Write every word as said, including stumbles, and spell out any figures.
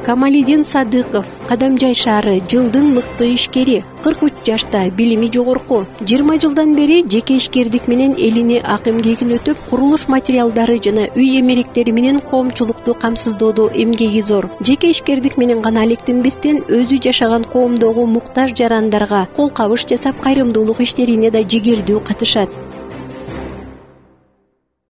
Камалидин Садыков Кадамжай шаары жылдын мыкты ишкери, кырк үч жашта, билими жогорку. жыйырма жылдан бери жеке ишкердик менен элине ак эмгегин өтөп, курулуш материалдары жана үй эмеректери менен коомчулукту камсыздоодо эмгеги зор. Жеке ишкердик менен гана алектенбестен өзү жашаган коомдогу муктаж жарандарга кол кабыш жасап, кайрымдуулук иштерине да жигердүү катышат.